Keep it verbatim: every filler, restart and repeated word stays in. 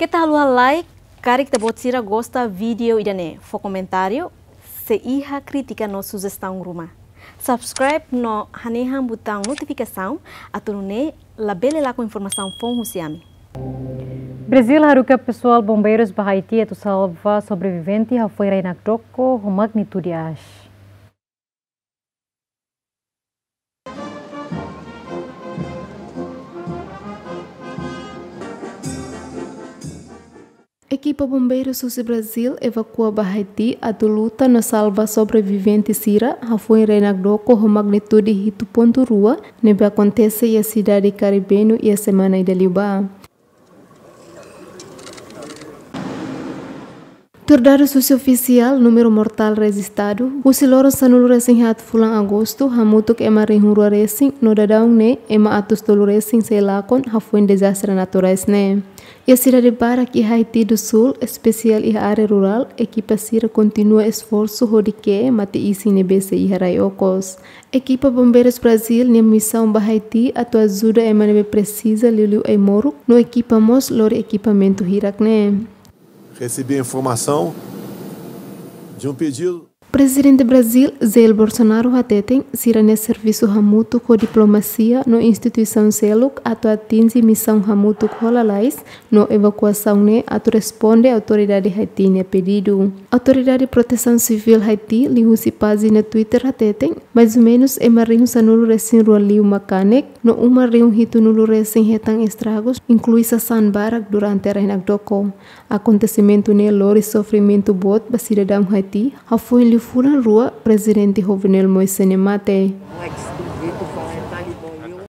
Keta haluha like, karik ita-boot sira gosta vídeo ida-ne'e, fó komentáriu, sei iha krítika no sujestaun ruma. Subscribe no hanehan butaun notifikasaun, atu nune'e labele lakon informasaun foun husi ami. Brazil haruka pesoál bombeirus ba Haiti atu salva sobrevivente hafoin rai-nakdoko ho magnitude aas. Ekipa bombeirus husi Brazil evakua ba Haiti atu luta no salva sobrevivente sira hafoin rai-nakdoko ho magnitude hitu pontu rua ne'ebé akontese iha sidade Karibenu iha semana ida liubá. Tuir dadus husi ofisiál, númeru mortál rejistadu husi loron sanulu-resin-haat fulan Agostu hamutuk ema rihun rua resin no daudaun ne'e ema atus tolu resin sei lakon hafoin dezastre naturais ne'e. Iha sidade barak iha Haiti do Sul, espesiál iha área rurál, ekipa sira kontinua esforsu hodi ke'e mate-isin ne'ebé sei iha rai okos. Ekipa bombeirus Brazil nia misaun ba Haiti atu ajuda ema ne'ebé presiza liuliu ai-moruk no ekipa mós lori ekipamentu hirak ne'e. Recebi a informação de um pedido. Prezidente Brazil, Jair Bolsonaro hateten, sira-nia servisu hamutuk ho diplomasia no instituisaun seluk atu atinje misaun hamutuk ho lalais no evakuasaun ne'e atu responde autoridade Haiti nia pedidu. Autoridade Protesaun Sivíl Haiti liuhusi pájina Twitter hateten, mais ou menus ema rihun sanulu-resin-rua liu mak kanek no uma rihun hitunulu resin hetan estragus, inklui sasán barak durante rai-nakdoko. Akontesimentu ne'e lori sofrimentu boot ba sidadaun Haiti hafoin liu fulan rua Prezidente Jovenel Moïse nia mate.